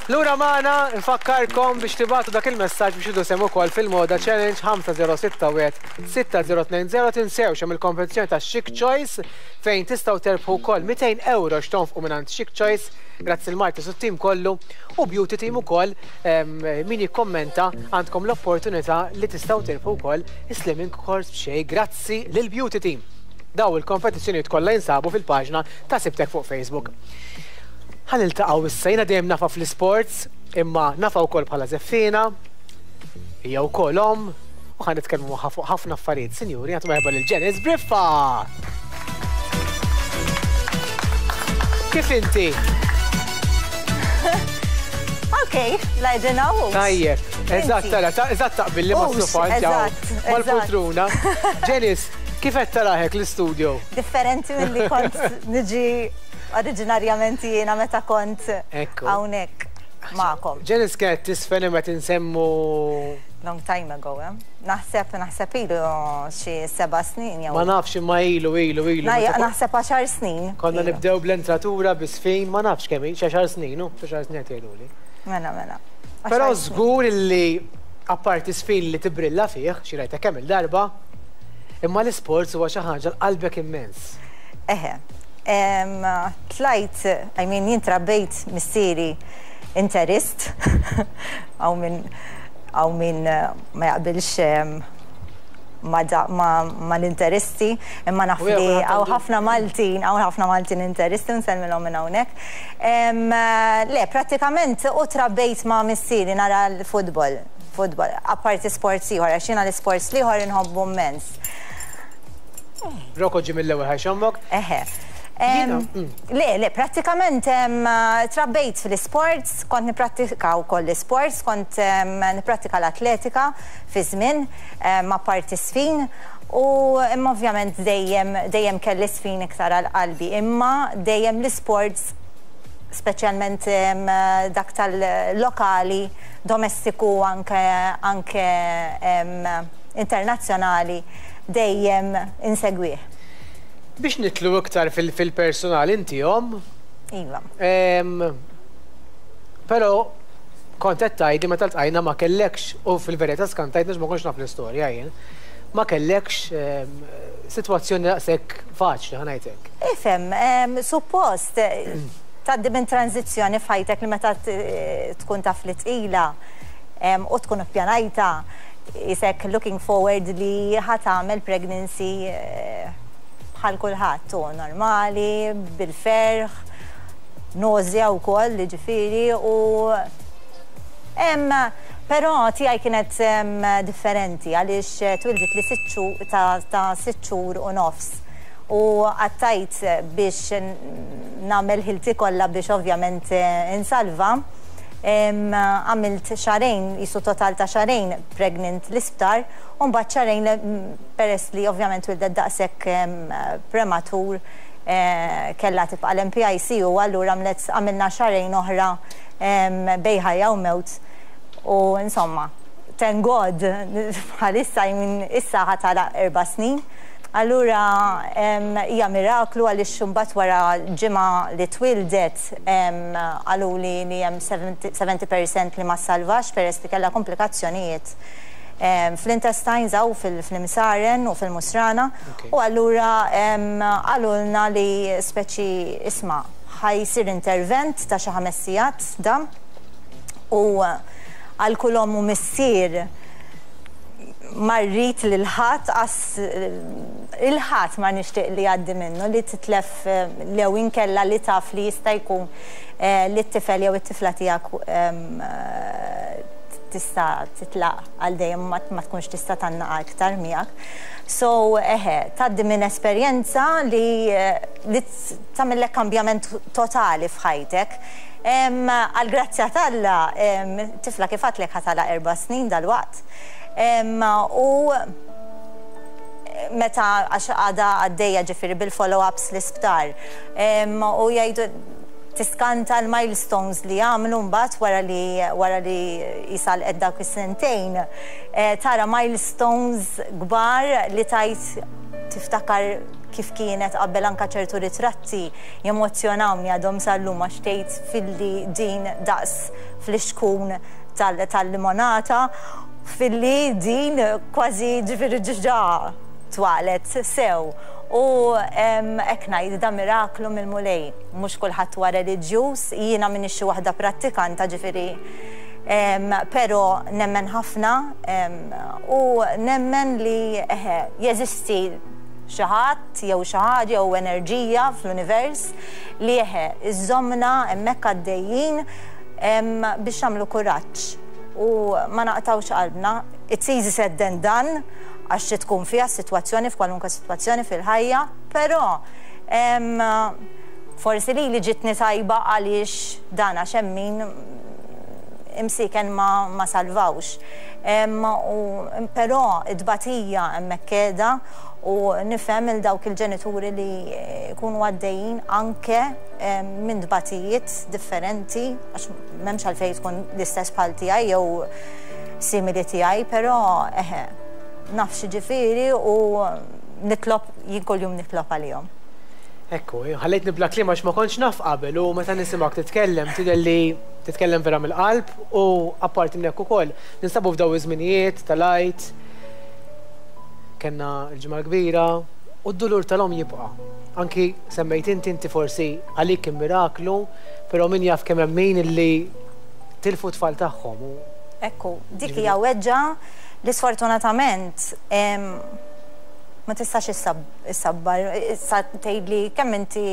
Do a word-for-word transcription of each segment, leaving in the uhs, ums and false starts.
Lura magħna, nfakkarkom biex tibagħtu dak il-messaġġ biex tieħdu sehem ukoll fil-Moda Challenge ħamsa żero sitta wieħed sitta żero tnejn żero. Tinsewx hemm il-kompetizzjoni ta' Chic Choice fejn tistgħu terbħu wkoll mitejn euro x'tonfqu mingħand Chic Choice, grazzi l-Marti su tim kollu u Beauty Team ukoll. Min jikkommenta, għandkom l-opportunità li tistgħu terbħu wkoll slimming course b'xejn grazzi lil Beauty Team. Daw il-kompetizzjonijiet kollha jinsabu fil-paġna ta' Sibtek fuq Facebook. Ħa niltaqgħu issa, jiena dejjem nafha fl-sports, imma nafha wkoll bħala żeffiena, hija wkoll omm, u ħa nitkellmu magħha fuq ħafna affarijiet. Sinjuri, għatu merħba lil Janice Briffa! Kif inti? Ok, lajdina u. Tajjeb, eżatt, tara, eżatt taqbil li ma' sofa mal-poltruna. Janice, kif qed taraħek l-istudio? Differenti mill-li kont niġi oriġinarjament jiena meta kont hawnhekk magħkom. Janice kienet tiżfen meta nsemmu Long time ago, eh? Naħseb, naħseb ilu xi seba' snin jew. Ma nafx, imma ilu, ilu, ilu. Naħseb għaxar snin. Konna nibdew bl-entratura bis-sfin, ma nafx kemm, xi għaxar snin, u xi għaxar snin qed jgħiduli. Mela, mela. Però żgur li apparti sfin li tibrilla fih, xi rajta kemm il-darba, imma l-isports huwa xi ħaġa l-qalbek immens. Eħe. Tlajt, I mean, jien trabbejt missieri interist, għaw min għaw min ma jaqbilx ma, ma, ma l-interisti, imma naf li għaw ħafna Maltin, għaw ħafna Maltin interisti, nsellmilhom minn hawnhekk. Le, pratikament u trabbejt ma' missieri nara l-futbol, futbol, apparti sports ieħor, għax jiena l-sports l-ieħor inħobbu immens. Roko ġi mill-ewwel ħajxommok. Eħe. Le, le, pratikament trabbejt fil-sports, kont niprattika wkoll l-sports, kont niprattika l-atletika fi żmien ma' parti sfin u imma ovvjament dejjem dejjem kelli sfin iktar għal qalbi, imma dejjem l-sports, speċjalment dak tal-lokali, domestiku, anke anke internazzjonali, dejjem insegwih. Biex nidħlu iktar fil-personal, inti omm. Iva. Però kont qed tgħidli meta ltqajna ma kellekx, u fil-verità skantajt ma kontx naf l-istorja jien, ma kellekx sitwazzjoni daqshekk faċli, ħa ngħidlek. Ifhem, suppost tgħaddi minn tranzizzjoni f'ħajtek li meta tkun taf li tqila u tkun ippjanajta isek looking forward li ħa tagħmel pregnancy eh, bħal kulħadd u normali, bil-ferħ, nausea wkoll, ġifieri, u Em, però tiegħi kienet em, differenti għaliex twildet li sitt xhur- ta' ta' sitt xhur u nofs u għattajt biex nagħmel ħilti kollha biex ovvjament eh, insalva. Em, Għamilt xahrejn, jisu total ta' xahrejn pregnant l-isptar, u mbagħad xahrejn le- peress li ovvjament wildet daqshekk em, prematur, eh, kella tibqa l-P I C U, allura għamlet għamilna xahrejn oħra em, bejn ħajja u mewt. U insomma, thank God, bħalissa jmin issa ħa tagħlaq erba' snin. Allura em, hija miraklu għaliex imbagħad wara ġimgħa li twildet em, qaluli li hemm sebgħin fil-mija li ma salvax peress li kellha komplikazzjonijiet em, fl-intestines aw fil-imsaren u fil-musrana. Ok. U allura em, qalulna li speċi isma' ħa jsir intervent ta' xi ħames sigħat dam u għal kull omm u missier ma rrid lil ħadd as il-ħadd ma nixtieq li jgħaddi minnu li titlef eh, lew inkella li taf li jista' jkun eh, li t-tifel jew it-tifla tiegħek em, eh, tista' titlaq għal dejjem, ma ma tkunx tista' tgħannaqa iktar miegħek. So eħe, tgħaddi minn esperjenza li eh, li tagħmellek kambjament totali f'ħajtek. Em, Għal grazzja t'Alla, em, tifla kif għedtlek ħa tagħlaq erba' snin dal-waqt. Em, U meta għax għada għaddejja ġifieri bil-follow-ups l-isptar. Em, U jgħidu tiskanta l-milestones li għamlu mbagħad wara li wara li jisal dawk is-sentejn. Eh, Tara milestones kbar li tajt tiftakar kif kienet qabel, anka ċertu ritratti jemozzjonawni għadhom sal-lum, għax tgħid filli din daqs fl-ixkun tal-limonata, filli din kważi ġifieri ġiġa twalet sew. U hekk ngħid, da miraklu mill-Mulej. Mhux kulħadd huwa reliġjuż, jiena m'iniex xi waħda prattikanta, ġifieri, però nemmen ħafna u nemmen li jeżisti xi ħadd jew xi ħaġa jew enerġija fl-univers li eħe iżommna hemmhekk għaddejjin biex nagħmlu kuraġġ u ma naqtawx qalbna. It's easy said than done, għax tkun fiha sitwazzjoni, f'kwalunkwe sitwazzjoni fil-ħajja, però forsi li li ġitni tajba għaliex dan, għax hemm min imsiken ma, ma salvawx. Però id-batija hemmhekk qiegħda u nifhem il dawk il-ġenituri li jkunu għaddejjin anke minn dbatijiet differenti, għax m'hemmx għalfejn tkun l-istess bħal tiegħi jew simili tiegħi, però eħe, naf x'jiġifieri u nitlob, jien kuljum nitlob għalihom. Ekku, ħallejtni bla kliem għax ma kontx naf qabel, u meta nisimgħek titkellem tidher li titkellem vera mill-qalb, u apparti minn hekk ukoll ninsabu f'daw iż-żminijiet tal-Għid, kellna l-Ġimgħa Kbira, u d-dulur tal-omm jibqa'. Anki semmejt inti inti forsi għalik kien miraklu, però min jaf kemm hemm min illi tilfu tfal tagħhom. Ekku, dik hija weġġa li sfortunatament ma tistax issabbar, issa tgħidli kemm inti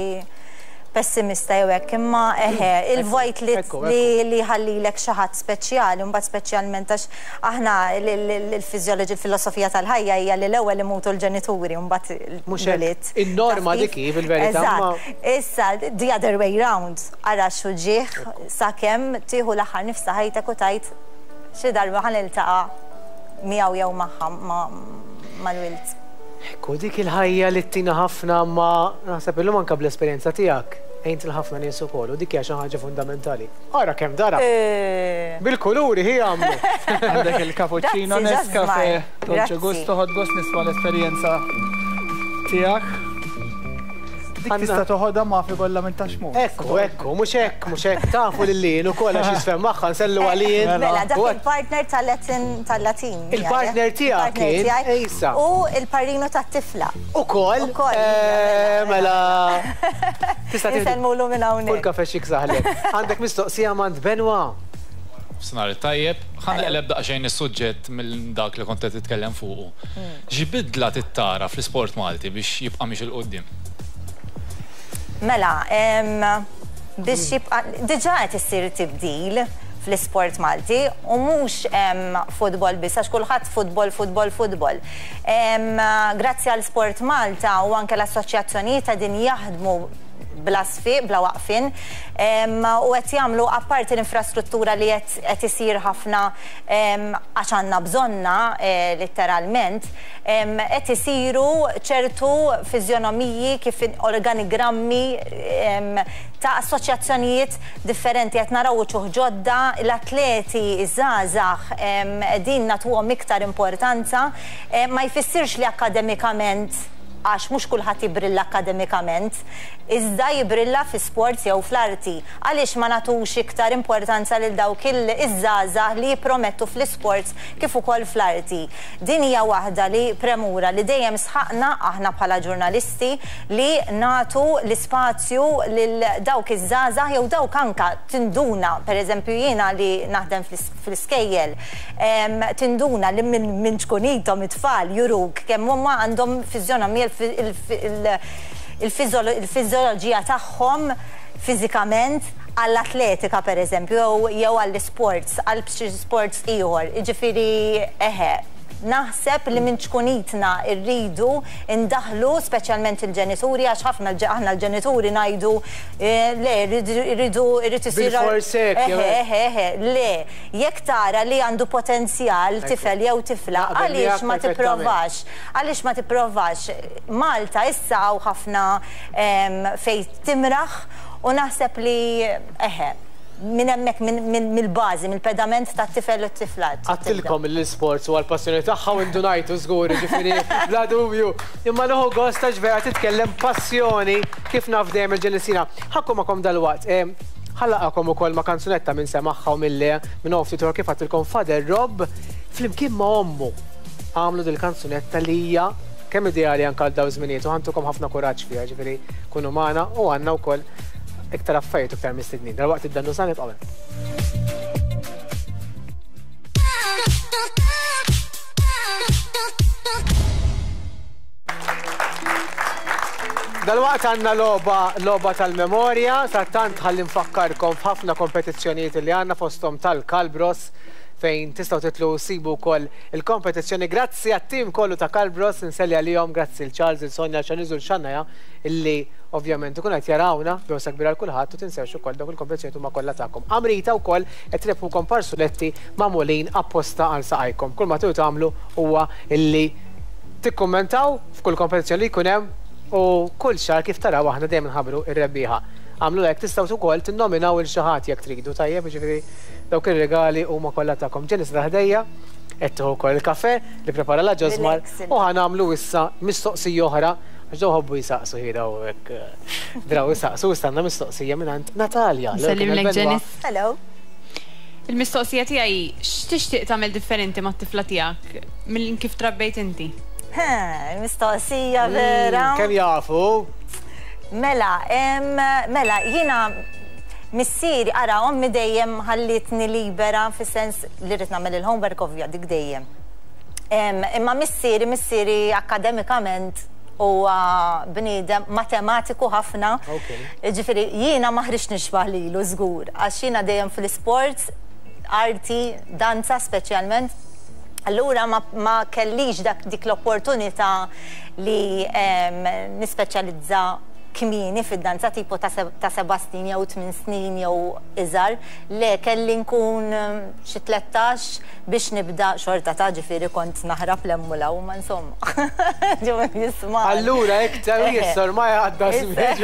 pessimista jew hekk, imma eħe, il-vojt li ħallilek xi ħadd speċjali, mbagħad speċjalment għax aħna l-fiżjoloġi, il-filosofija tal-ħajja hija li l-ewwel imutu l-ġenituri u mbagħad l-ulied. In-norma dik hi fil-verità. Issa, the other way round, ara x'uġigħ sakemm tieħu l-aħħar nifsa ħajtek u tgħid xi darba ħa niltaqa' miegħu jew magħha, mal-wild. Ekku, dik il-ħajja li tina ħafna, ma naħseb illum anke bl-esperjenza tiegħek għint il-ħafna nies ukoll, u dik hija xi ħaġa fundamentali. Ara kemm dara. Bil-kuluri hi għamlu. Għandek il-cappuccino Nescafe, Dolce Gusto, ħadt gost nisma' l-esperjenza tiegħek. Dik tista' toħodha ma fi kollha minn taxmu. Ekku, ekku, mhux hekk, mhux hekk, tafu lil lin ukoll għax jisfem magħha, nsellu għalin. Mela, dak il-partner tal-Latin. Il-partner tiegħek kien, ejsa. U il-parrinu tat-tifla. Ukoll? Mela. Tista' Insellmulu minn hawnhekk. Kull kafe xik saħlek. Għandek mistoqsija m'għand Benwa. Snar tajjeb, ħa naqleb daqsxejn is-suġġett minn dak li kont qed titkellem fuqu. X'bidla tittara fl-isport Malti biex jibqa' miex 'il quddiem? Mela, biex jibqa', diġà qed issir tibdil fl-isport Malti u mhux futbol biss, għax kulħadd futbol, futbol, futbol. Grazzi għal Sport Malta u anke l-assoċjazzjonijiet qegħdin jaħdmu bla sfiq, bla waqfin, u qed jagħmlu apparti l-infrastruttura li qed isir ħafna għax għandna bżonna letteralment, qed isiru ċertu fiżjonomiji kif organigrammi ta' assoċjazzjonijiet differenti, qed naraw uċuħ ġodda, l-atleti iż-żgħażagħ qegħdin nagħtuhom iktar importanza, ma jfissirx li akademikament, għax mhux kulħadd jibrilla akademikament, iżda jibrilla fi sports jew fl-arti. Għaliex ma nagħtux iktar importanza lil dawk iż-żgħażagħ li jippromettu fl-isports kif ukoll fl-arti? Din hija waħda li premura li dejjem sħaqna aħna bħala ġurnalisti li nagħtu l-ispazju lil dawk iż-żgħażagħ jew dawk anka tinduna, pereżempju jiena li naħdem fl-iskejjel, tinduna li minn ċkunithom it-tfal juruk kemm huma għandhom fiżjonomija, il-fiżjoloġija tagħhom fiżikament għall-atletika pereżempju jew għall-sports, għal xi sports ieħor. Jiġifieri eħe, naħseb li minn ċkunitna rridu ndaħlu speċjalment il-ġenituri, għax ħafna aħna l-ġenituri ngħidu le rridu irrid isir eħe eħe eħe, le, jekk tara li għandu potenzjal tifel jew tifla, għaliex ma tipprovax? Għaliex ma tipprovax? Malta issa hawn ħafna fejn timraħ u naħseb li eħe, minn hemmhekk mill-bażi, mill-pedament tat-tifel u t-tifla. Għattilkom l-isports u għall-passjoni tagħha u ndunajtu żgur, ġifieri bla dubju. Imma nieħu gost għax vera titkellem passjoni kif naf dejjem il-Ġenisina. Ħakku magħkom dalwaqt. Ħallaqakom ukoll ma' kanzunetta minn semaħħa u mill-le minn off titor kif għattilkom Father Rob flimkien ma' ommu. Għamlu dil-kanzunetta li hija kemm ideali anke għal daw żminijiet u ħantukom ħafna kuraġġ fiha, ġifieri kunu magħna u għandna wkoll iktar affarijiet u iktar mistednin. Dalwaqt id-dannu sa nibqgħu. Dalwaqt għandna logħba logħba tal-memorja, sa tant ħalli nfakkarkom f'ħafna kompetizzjonijiet li għandna fosthom tal-Kalbros fejn tistgħu titlu sibu wkoll il-kompetizzjoni. Grazzi għat-tim kollu ta' Kalbros, nselli għalihom, grazzi l Charles, il Sonja, l Xanizu, l Xannaja, illi ovvjament ikun qed jarawna bewsa kbira għal kulħadd u tinsewx ukoll dawk il-kompetizzjonijiet huma kollha tagħkom. Amrita wkoll qed trebħukom parsuletti magħmulin apposta għal saqajkom. Kull ma tridu tagħmlu huwa illi tikkummentaw f'kull kompetizzjoni li jkun hemm u kull xahar kif taraw aħna dejjem nħabbru r-rebbieħa. Għamlu hekk tistgħu wkoll tinnominaw il xi ħadd jekk tridu, tajjeb, jiġifieri dawk ir-regali huma kollha tagħkom. Ġenis ħdejja qed tieħu wkoll il-kafe li prepara la Ġosmar u ħanamlu issa mistoqsija oħra għax daw ħobbu jisaqsu ħira u hekk draw jisaqsu istanna mistoqsija mingħand Natalja. Nsellimlek Ġenis. Hello. Il-mistoqsija tiegħi x'tixtieq tagħmel differenti mat-tifla tiegħek minn kif trabbejt inti? Mistoqsija vera. Kemm jafu? Mela, mela, jiena missieri, ara, ommi dejjem ħallitni libera fis-sens li rrid nagħmel il-homework ovvja dik dejjem. Imma missieri, missieri akademikament huwa bniedem matematiku ħafna. Ġifieri jiena ma ħriġt nixbah lilu żgur, għax jiena dejjem fl-isports, arti, danza speċjalment. Allura ma, ma kellix dak dik l-opportunità li nispeċjalizza kmieni fid-danza tipo ta' seba' snin jew tmien snin jew iżgħar. Le kelli nkun xi tlettax biex nibda xorta ta' ġifieri kont naħrab l-emmula u ma insomma. Ġew jisma'. Allura iktar jissor ma jgħadda żmien.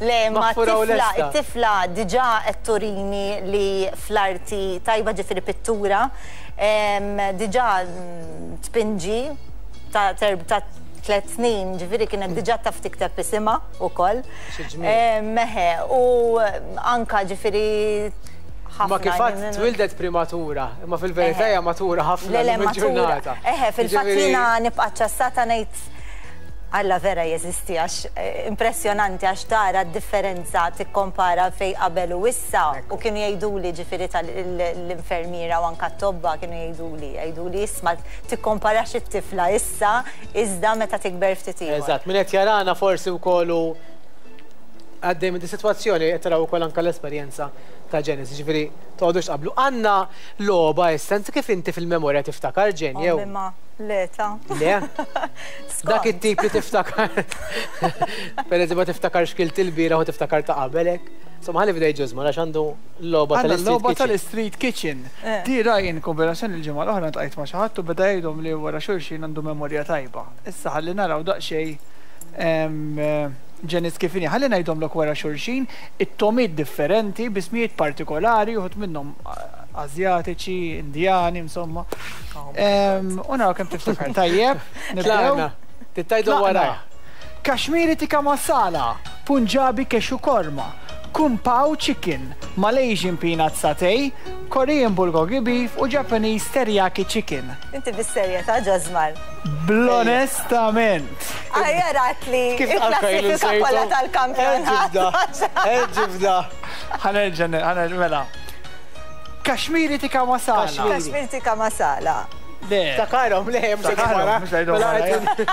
Le ma t-tifla, it-tifla diġà qed turini li fl-arti tajba ġifieri pittura, diġà tpinġi ta' ta' tliet snin, ġifieri kienet diġà taf tikteb isimha wkoll. Meħe, u anka ġifieri ħafna. Ma kif għad twildet prematura, imma fil-verità hija matura ħafna ġurnata. Eħe, fil-fatt jiena nibqa' ċassata ngħid Alla vera jeżisti għax impressjonanti għax tara d-differenza tikkompara fej qabel u issa u kienu jgħiduli ġifieri tal-infermiera u anka t-tobba kienu jgħiduli jgħiduli isma' tikkomparax it-tifla issa iżda meta tikber ftit ieħor. Eżatt, min qed jarana forsi wkoll għaddej minn di sitwazzjoni qed taraw ukoll anke l-esperjenza ta' Ġenis, ġifieri toqgħodux qablu. Għandna logħba issa, kif inti fil-memorja tiftakar Ġen jew? Le, ta' Le? Dak it-tip li tiftakar. Per eżempju, ma tiftakar x'kilt il-bieraħ u tiftakar ta' qabelek. Insomma, ħalli fidej Ġosmar għax għandu logħba tal-Logħba tal-Street Kitchen. Di rajn kombinazzjoni l-ġimgħa l-oħra ntqajt ma' xi ħadd u beda jgħidhom li wara xulxin għandu memorja tajba. Issa ħalli naraw daqsxejn Ġenis kif inhi, ħalli ngħidhomlok wara xulxin it-tomiet differenti b'ismijiet partikolari, uħud minnhom Azjatiċi, Indjani, insomma. U naraw kemm tiftakar. Tajjeb, nibdew. Tittajdu wara. Kashmiri tikka masala, Punjabi cashew korma, Kung Pao chicken, Malaysian peanut satay, Korean bulgogi beef u Japanese teriyaki chicken. Inti bis-serjetà Ġosmar. Bl-onestament. Ajja li il-klassifika kollha tal-kampjonat. Ġibda. Ħanerġa' ħanerġa' mela. Kashmiri tikka masala. Kashmiri tikka masala. Takarhom, le, mhux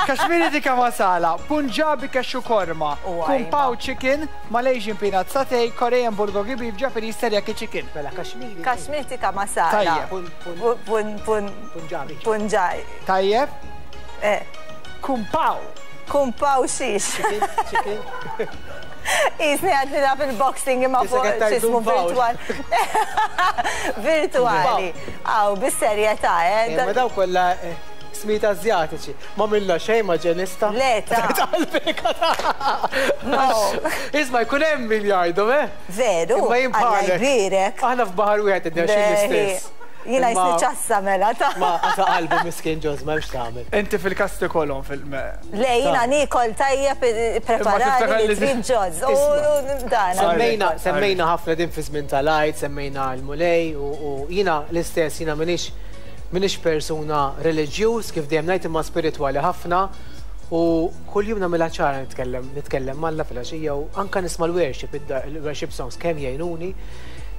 Kashmiri tikka masala, Punjabi cashew korma, Kung Pao chicken, Malaysian peanut satay, Korean bulgogi beef, Japanese teriyaki chicken. Mela Kashmiri. Kashmiri tikka masala. Punjabi. Punjabi. Tajjeb. Eh. Kung Pao. Kung Pao xiex. Chicken, chicken. Isni għad nilab il-boxing imma fuq xismu virtual. Virtuali. Aw, bis-serjetà, eh. Ma daw kollha Ismijiet Azjatiċi. Ma minna xejn ma ġenista. Le, ta' No. Isma' jkun hemm min jgħidhom, eh? Veru, Imma jien Alla bħalek. jbierek. Aħna f'baħar wieħed qed xejn l-istess. Jiena Imma- jisni ċassa mela ta' Ma għata qalbu miskin ġoż, ma hemmx tagħmel. Inti fil-kas tikolhom fil- Le, jiena nikol tajjeb preparali tiftakar li li- trid ġoż. U dan. Semmejna, semmejna ħafna din fi żmien tal-Għid, semmejna l-Mulej u u jiena l-istess jiena minix minix persuna reliġjuż kif dejjem ngħid imma spiritwali ħafna u kuljum nagħmilha ċara nitkellem nitkellem m'Alla filgħaxija u anke nisma' l-worship il-worship songs kemm jgħinuni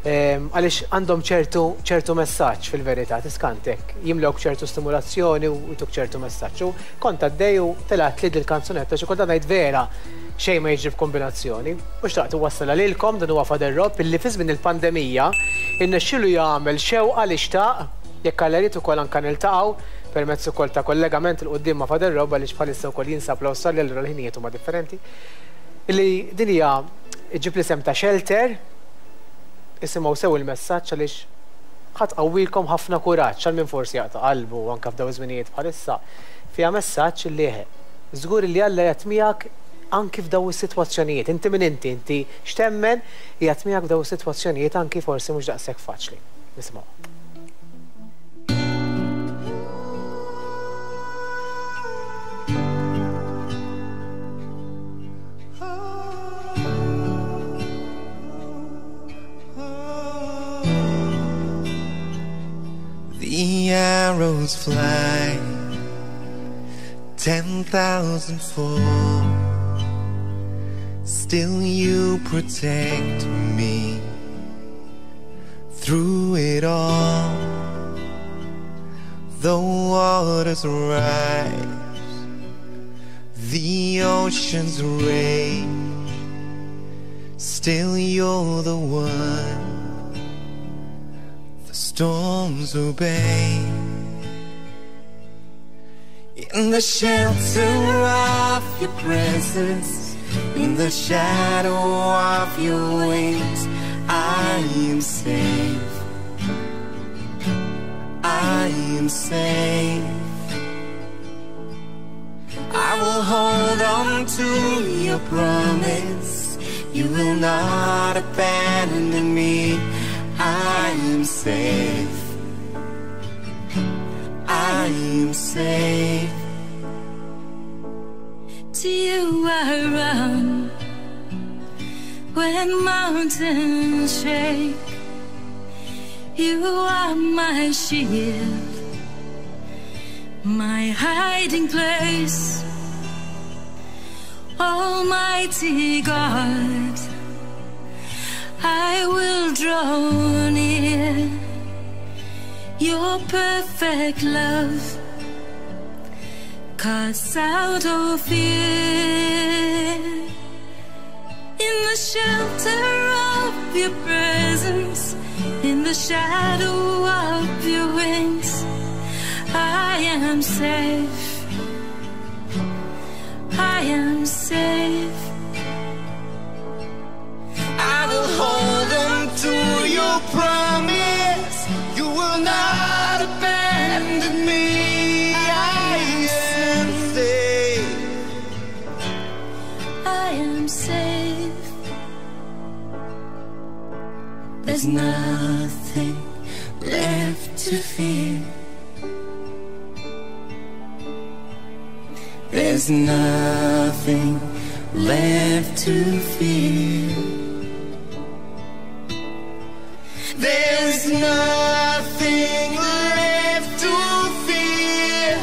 ehm, għaliex għandhom ċertu ċertu messaġġ fil-verità tiskantek jimlewk ċertu stimulazzjoni u jtuk ċertu messaġġ. U kont għaddej u telgħet li dil-kanzunetta xi kont ngħid vera xejn ma jiġri f'kombinazzjoni. U xtaqt wassala lilkom dan huwa Father Rob illi fi żmien il-pandemija innexxielu jagħmel xewqa li xtaq jekk Alla jrid ukoll anke niltaqgħu permezz ukoll ta' kollegament il quddiem ma' Father Rob għaliex bħalissa wkoll jinsab l-Awstralja allura l-ħinijiet huma differenti. Illi din hija ġib l-isem ta' Shelter, isimgħu sew il-messaġġ għaliex ħadd qawwilkom ħafna kuraġġ għal min forsi jaqta' qalbu anke f'daw iż-żminijiet bħalissa. Fiha messaġġ li eħe, żgur li Alla jgħid miegħek anki f'daw is-sitwazzjonijiet. Inti min inti, inti x'temmen jgħid miegħek f'daw is-sitwazzjonijiet anki forsi mhux daqshekk faċli. Nisimgħu. The arrows fly, ten thousand fall. Still you protect me through it all. The waters rise, the oceans rage. Still you're the one the storms obey. In the shelter of your presence, in the shadow of your wings, I am safe. I am safe. I will hold on to your promise. You will not abandon me. I am safe. I am safe. To you I run when mountains shake. You are my shield, my hiding place. Almighty God, I will draw near. Your perfect love casts out all fear. In the shelter of your presence, in the shadow of your wings, I am safe. I am safe. I will hold on to your promise. You will not abandon me. I am safe. I am safe. There's nothing left to fear. There's nothing left to fear. There's nothing left to fear.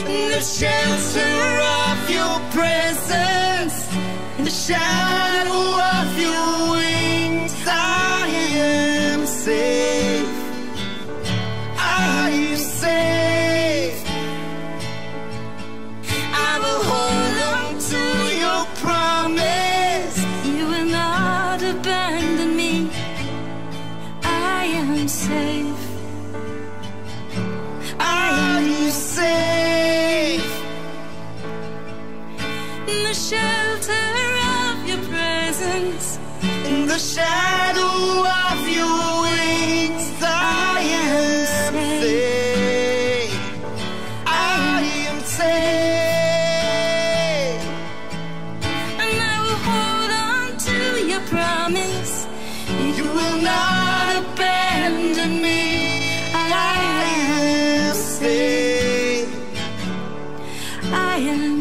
In the shelter of your presence, in the shadow of your wings, I am safe. I am safe. I will hold on to your promise. You will not abandon me. I am safe. I am safe. In the shelter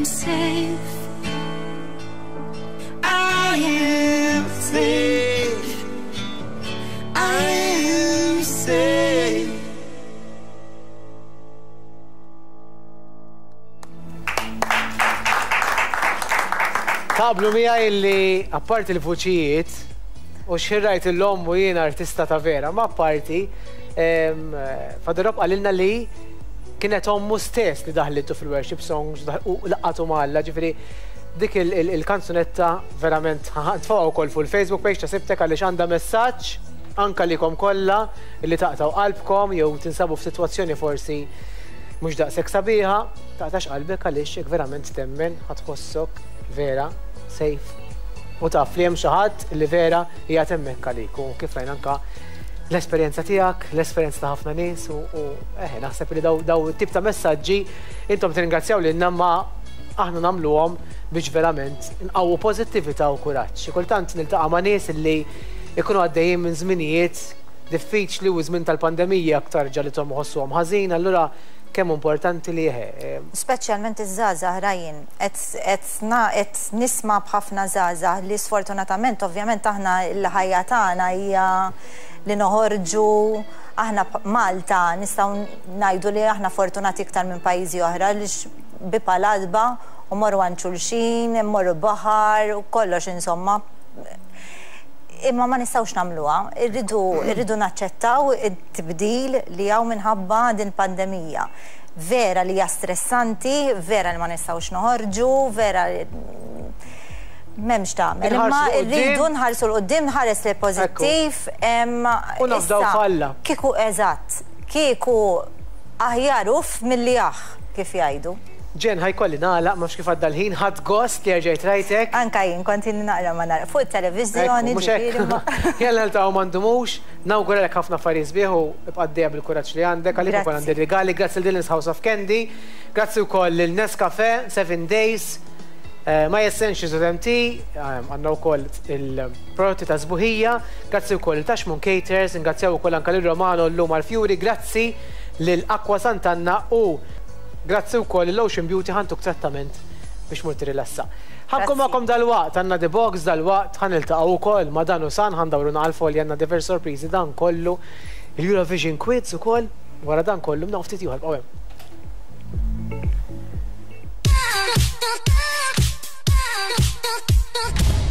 am safe. I am safe. I am safe. Taqblu miegħi li apparti l-vuċijiet u xirrajt l-om u jien artista ta' vera, ma apparti Father Rob qalilna li kienet ommu stess li daħlitu fil-worship songs u laqatu ma' Alla, ġifieri dik il-kanzunetta verament tfgħu wkoll fuq il-Facebook page ta' Sibtek għaliex għandha messaġġ anka likom kollha li taqtaw qalbkom jew tinsabu f'sitwazzjoni forsi mhux daqshekk sabiħa, taqtax qalbek għaliex jekk verament temmen ħa tħossok vera safe. U taf li hemm xi ħadd li vera qiegħed hemmhekk għalik u kif rajna anka l-esperjenza tiegħek, l-esperjenza ta' ħafna nies u eħe naħseb li daw daw tip ta' messaġġi intom tirringrazzjaw lilna ma aħna nagħmluhom biex verament nqawwu pożittività u kuraġġ. Xi kultant niltaqa' ma' nies li ikunu għaddejjin minn żminijiet diffiċli u żmien tal-pandemija aktar ġalithom iħossuhom ħażin, allura kemm importanti li eħe. Speċjalment iż-żgħażagħ Ryan, qed nisma' b'ħafna żgħażagħ li sfortunatament ovvjament aħna l-ħajja tagħna hija li noħorġu, aħna Malta nistgħu ngħidu li aħna fortunati iktar minn pajjiżi oħra li bieb għal-għatba u morru għand xulxin, morru baħar u kollox insomma. Imma ma nistgħux nagħmluha, irridu irridu naċċettaw it-tibdil li hawn minħabba din pandemija. Vera li hija stressanti, vera li ma nistgħux noħorġu, vera m'hemmx tagħmel. Imma rridu nħarsu 'l quddiem, nħares li pożittiv. U nafdaw f'Alla. Kieku eżatt, kieku aħjar uff milli aħ, kif jgħidu. Jen, ħa jkolli nagħlaq, ma kif għadda l-ħin, ħadt gost li rġajt rajtek. Anka jien, kont ili naqra ma nara. Fuq il-televizjoni. Jalla niltaqgħu ma ndumux, nawguralek ħafna affarijiet sbieħ u ibqa' għaddejja bil-kuraġġ li għandek, għalik ukoll għandi rigali, grazzi lil Dylan's House of Candy, grazzi wkoll lil Nescafe, Seven Days, My Essentials of M T, għandna wkoll il-prodotti ta' sbuħija, grazzi wkoll Tashmun Caters, ingrazzjaw ukoll anka lil Romano llum għal-Fjuri, grazzi lil Aqua Sant'Anna u grazzi wkoll l-Ocean Beauty ħa ntuk trattament biex mur tirilassa. Ħa nkun magħkom dalwaqt, għandna The Box dalwaqt, ħa niltaqgħu wkoll ma' Dan u San, ħa ndawru għal-folja, għandna diversi sorpriżi dan kollu, il-Eurovision Quiz ukoll, wara dan kollu, mna ftit ieħor, bqgħu hemm. Thank you.